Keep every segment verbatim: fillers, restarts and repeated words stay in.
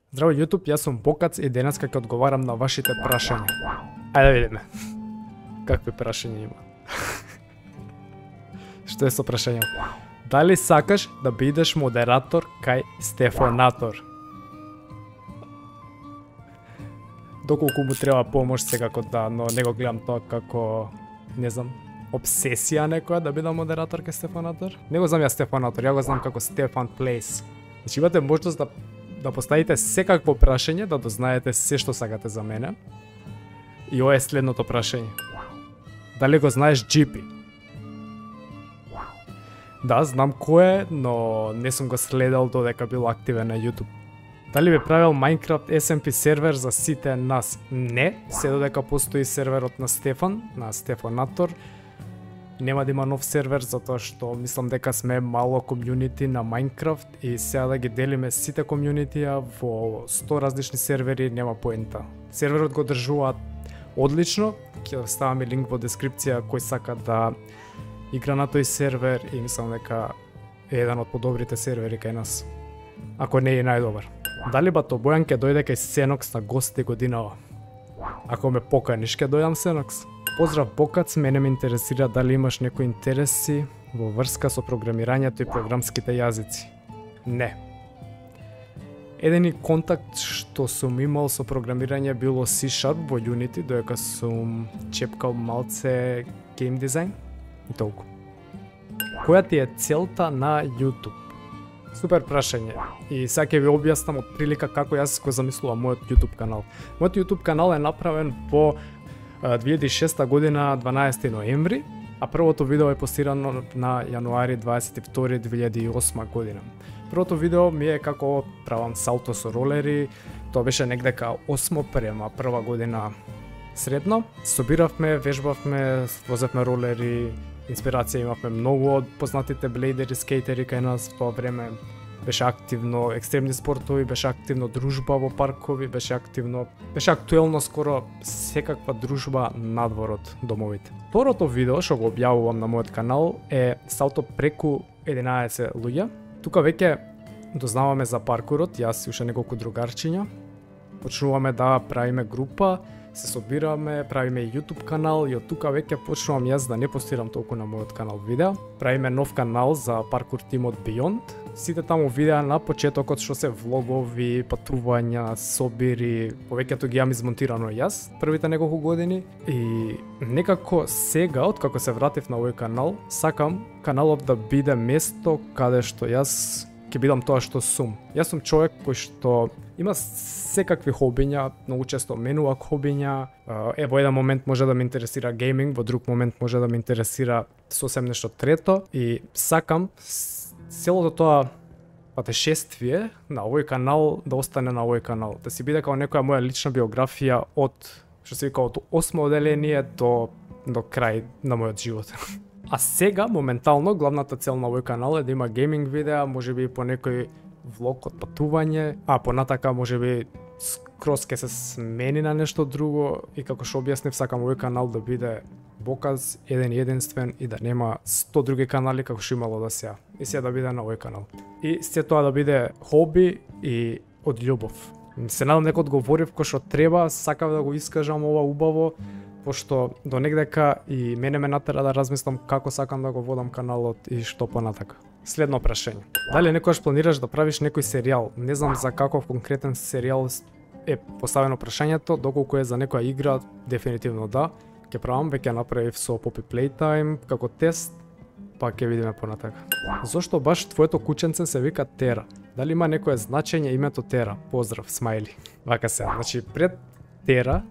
Здраво YouTube, јас сум Бокац и денеска ќе одговарам на вашите прашања. Ајде да видиме. Какви прашања има? Што е со прашања? Дали сакаш да бидеш модератор кај Стефанатор? Доколку му треба помош секако да, но не го гледам тоа како, не знам, обсесија некоја да бидам модератор кај Стефанатор. Не го знам ја Стефанатор, ја го знам како Стефан Плейс. Значи имате можност да да поставите секакво прашање, да дознаете се што сакате за мене. И ова е следното прашање. Дали го знаеш Джи Пи? Да, знам кој е, но не сум го следел додека бил активен на YouTube. Дали би правил Minecraft Ес Ем Пи сервер за сите нас? Не, се додека постои серверот на Стефан, на Стефанатор. Нема да има нов сервер, затоа што мислам дека сме мало комјунити на Minecraft и сега да ги делиме сите комјунитија во сто различни сервери нема поента. Серверот го држуваат одлично, ќе ставаме линк во дескрипција кој сака да игра на тој сервер и мислам дека е еден од подобрите сервери кај нас. Ако не е најдобар. Дали Бато Бојан ќе дојде кај Сенокс на гости годинава? Ако ме поканиш, ќе дојдам Сенокс. Поздрав Бокац, мене ме интересира дали имаш некои интереси во врска со програмирањето и програмските јазици. Не. Едини контакт што сум имал со програмирање било Си Шарп во Unity, додека сум чепкал малце гейм дизајн и толку. Која ти е целта на YouTube? Супер прашање. И сега ќе ви објаснам од прилика како јас го замислувам мојот YouTube канал. Мојот YouTube канал е направен во две илјади и шеста година дванаесети ноември, а првото видео е постирано на јануари дваесет и втори две илјади и осма година. Првото видео ми е како правам салто со ролери, тоа беше негдека осмо према прва година средно. Собиравме, вежбавме, возевме ролери, инспирација имавме многу од познатите блейдери, скейтери кај нас во тоа време. Беше активно екстремни спортови, беше активно дружба во паркови, беше активно, беше актуелно скоро секаква дружба надвор од домовите. Второто видео што го објавувам на мојот канал е салто преку единаесет луѓе. Тука веќе дознаваме за паркурот, јас и уште неколку другарчиња. Почнуваме да правиме група, се собираме, правиме YouTube канал и од тука веќе почнувам јас да не постирам толку на мојот канал видеа. Правиме нов канал за паркур тимот Beyond. Сите таму видеа на почетокот што се влогови, патувања, собири, повеќето ги јам измонтирано јас првите неколку години и некако сега, откако се вратив на овој канал, сакам каналот да биде место каде што јас ќе бидам тоа што сум. Јас сум човек кој што има секакви хобиња, многу често менува хобиња. Е, во еден момент може да ме интересира гейминг, во друг момент може да ме интересира сосем нешто трето и сакам целото тоа патешествие на овој канал да остане на овој канал, да си биде како некоја моја лична биографија од, што се вика, од осмо оделение до до крај на мојот живот. А сега моментално главната цел на овој канал е да има гейминг видеа, можеби по некој влог од патување, а понатака можеби скроз ке се смени на нешто друго и како што објаснив, сакам овој канал да биде Боказ еден единствен и да нема сто други канали како што имало до сега. И сега да биде на овој канал. И се тоа да биде хоби и од љубов. Се надам дека одговорив кој што треба, сакав да го искажам ова убаво, пошто до негдека и мене ме натера да размислам како сакам да го водам каналот и што понатака. Следно прашање. Дали некогаш планираш да правиш некој серијал? Не знам за каков конкретен серијал е поставено прашањето, доколку е за некоја игра, дефинитивно да. Ке правам, веќе направив со Poppy Playtime како тест, па ќе видиме понатака. Зошто баш твоето кученце се вика Тера? Дали има некое значење името Тера? Поздрав, смајли. Вака се, значи пред Тера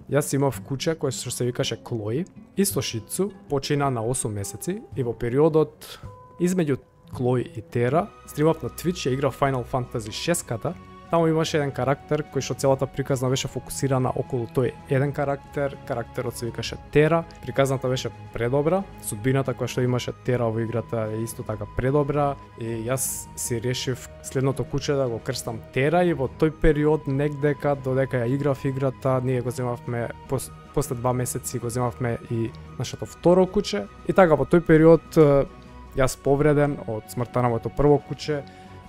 јас имав куче кој што се викаше Клои и со Шицу, почина на осум месеци и во периодот измеѓу Клои и Тера стримав на Twitch, ја играв Final Fantasy шест-ката. Таму имаше еден карактер кој што целата приказна беше фокусирана околу тој еден карактер, карактерот се викаше Тера. Приказната беше предобра, судбината која што имаше Тера во играта е исто така предобра и јас си решив следното куче да го крстам Тера и во тој период негдека додека ја играв играта, ние го земавме пос, после два месеци го земавме и нашето второ куче и така во тој период јас повреден од смртта на моето прво куче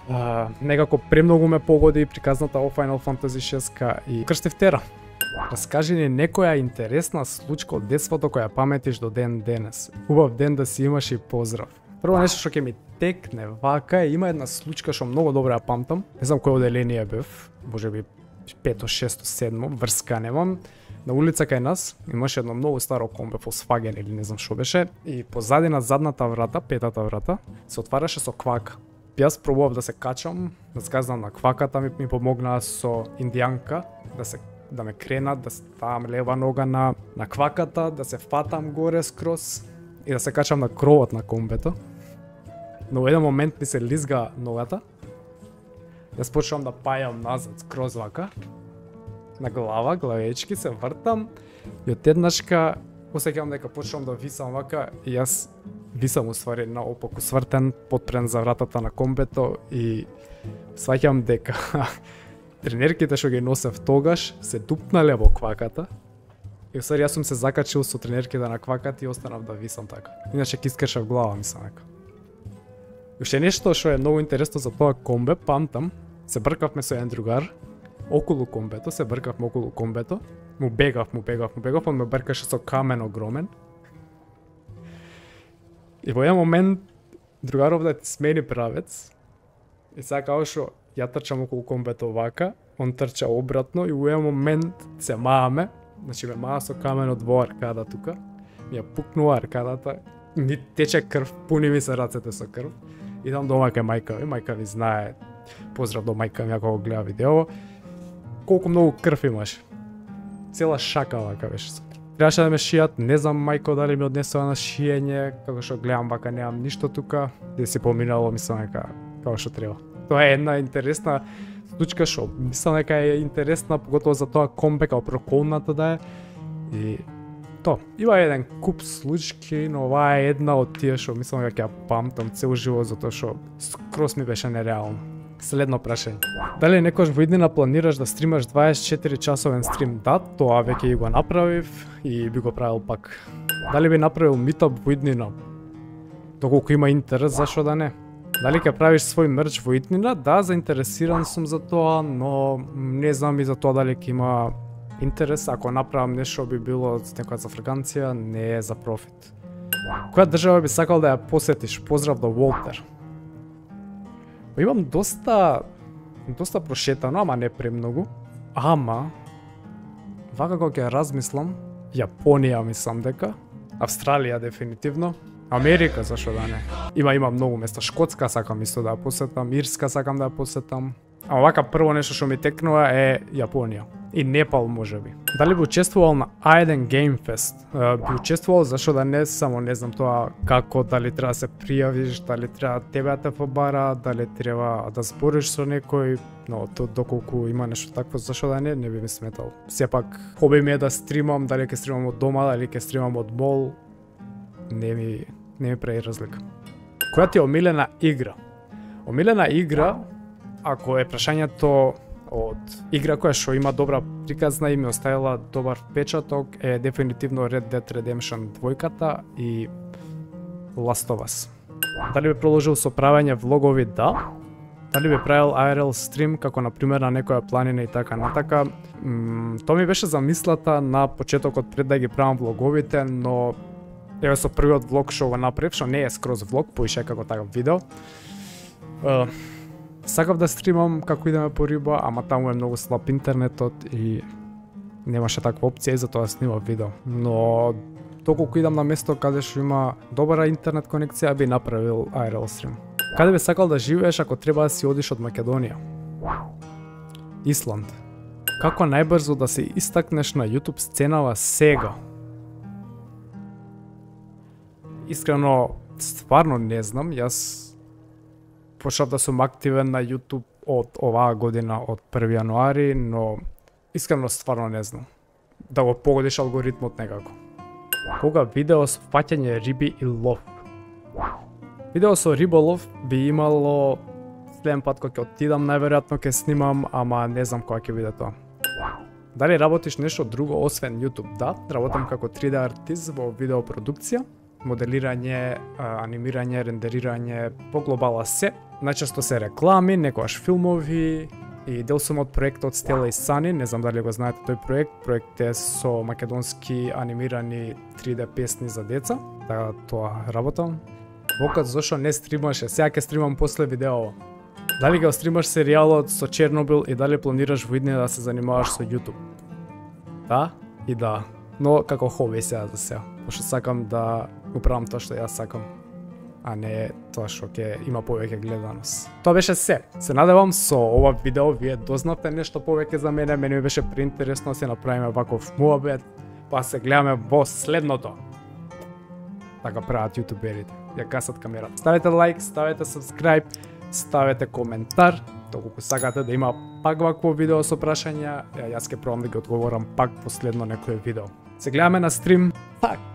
Uh, некако премногу ме погоди приказната о Final Fantasy шест и крстив тера. Раскажи ни некоја интересна случка од детството која паметиш до ден денес. Убав ден да си имаш и поздрав. Прво нешто што ќе ми текне вака е, има една случка што многу добро ја памтам. Не знам кој оделение бев, можеби пето, шесто, седмо, врска немам. На улица кај нас имаше едно многу старо комбе Volkswagen или не знам што беше и позади на задната врата, петата врата, се отвараше со квака. Јас пробував да се качам, да сказам на кваката, ми, ми помогнаа со индијанка, да се да ме кренат, да ставам лева нога на на кваката, да се фатам горе скроз и да се качам на кровот на комбето. Но во еден момент ми се лизга ногата. Јас почнувам да пајам назад скроз вака, на глава, главечки, се вртам и одеднашка осеќавам дека почнувам да висам вака и јас висам уствари наопаку свртен, потпрен за вратата на комбето и сваќам дека тренерките што ги носев тогаш се дупнале во кваката. И уствари јас сум се закачил со тренерките на кваката и останав да висам така. Иначе ки искршав глава, мислам дека. Уште нешто што е многу интересно за тоа комбе, памтам, се бркавме со еден другар околу комбето, се бркавме околу комбето, му бегав, му бегав, му бегав, он ме бркаше со камен огромен. И во еден момент другаров да смени правец и сега као што ја трчам околу комбето вака, он трча обратно и во еден момент се мааме, значи ме маа со каменот во аркада тука, ми ја пукнува аркадата, ми тече крв, пуни ми се рацете со крв. Идам дома кај мајка ми, мајка ми знае, поздрав до мајка ми ако го гледа видео, колку многу крв имаш. Цела шака вака беше со крв. Требаше да ме шијат, не знам мајко дали ми однесува на шиење, како што гледам вака немам ништо тука, и си поминало мислам дека како што треба. Тоа е една интересна случка што мислам дека е интересна, поготово за тоа комбе како проколната да е. И тоа, има еден куп случки, но оваа е една од тие што мислам дека ја памтам цел живот затоа што скроз ми беше нереално. Следно прашање. Дали некош во иднина планираш да стримаш дваесет и четири часовен стрим? Да, тоа веќе го направив и би го правил пак. Дали би направил митап во иднина? Доколку има интерес, зашо да не? Дали ќе правиш свој мерч во иднина? Да, заинтересиран сум за тоа, но не знам и за тоа дали ќе има интерес. Ако направам нешто би било некоја за фраканција, не е за профит. Која држава би сакал да ја посетиш? Поздрав до Волтер. Имам доста доста прошетано, ама не премногу. Ама вака кога ќе размислам, Јапонија мислам дека, Австралија дефинитивно, Америка зашо да не. Има има многу места, Шкотска сакам исто да ја посетам, Ирска сакам да ја посетам. Ама вака прво нешто што ми текнува е Јапонија и Непал можеби. Дали би учествувал на Aiden Game Fest? Би учествувал, зашо да не, само не знам тоа како, дали треба да се пријавиш, дали треба тебе да те побара, дали треба да збориш со некој, но то доколку има нешто такво, зашо да не, не би ми сметал. Сепак хоби ми е да стримам, дали ќе стримам од дома, дали ќе стримам од мол, не ми не ми прави разлика. Која ти е омилена игра? Омилена игра, ако е прашањето од игра која што има добра приказна и ми оставила добар впечаток, е дефинитивно Red Dead Redemption два и Last of Us. Дали би продолжил со правење влогови? Да. Дали би правил ай ар ел стрим, како на пример на некоја планина и така натака? М, тоа ми беше замислата на почетокот пред да ги правам влоговите, но еве со првиот влог што го направив, што не е скроз влог, поише како таков видео. Uh, Сакав да стримам како идеме по риба, ама таму е многу слаб интернетот и немаше таква опција и затоа снимав видео. Но доколку идам на место каде што има добра интернет конекција, би направил ай ар ел стрим. Каде би сакал да живееш ако треба да си одиш од Македонија? Исланд. Како најбрзо да се истакнеш на YouTube сценава сега? Искрено, стварно не знам, јас почнав да сум активен на YouTube од оваа година, од први јануари, но искрено стварно не знам. Да го погодиш алгоритмот некако. Кога видео со фаќање риби и лов? Видео со риболов би имало следен пат кога ќе отидам, најверојатно ќе снимам, ама не знам кога ќе биде тоа. Дали работиш нешто друго освен YouTube? Да, работам како три де артист во видеопродукција, моделирање, анимирање, рендерирање, по глобала се. Најчесто се реклами, некогаш филмови и дел сум од проектот Стела и Сани, не знам дали го знаете тој проект. Проект е со македонски анимирани три де песни за деца, така тоа работам. Бокат зошто не стримаше, сега ќе стримам после видео. Дали го стримаш серијалот со Чернобил и дали планираш во иднина да се занимаваш со YouTube? Да и да, но како хоби сега за сега, пошто сакам да управам тоа што јас сакам, а не тоа што ќе има повеќе гледаност. Тоа беше се. Се надевам со ова видео вие дознавте нешто повеќе за мене, мене ми беше преинтересно да се направиме ваков муабет, па се гледаме во следното. Така прават јутуберите, ја гасат камерата. Ставете лайк, ставете subscribe, ставете коментар, доколку сакате да има пак вакво видео со прашања, јас ќе пробам да ги одговорам пак последно некое видео. Се гледаме на стрим, пак!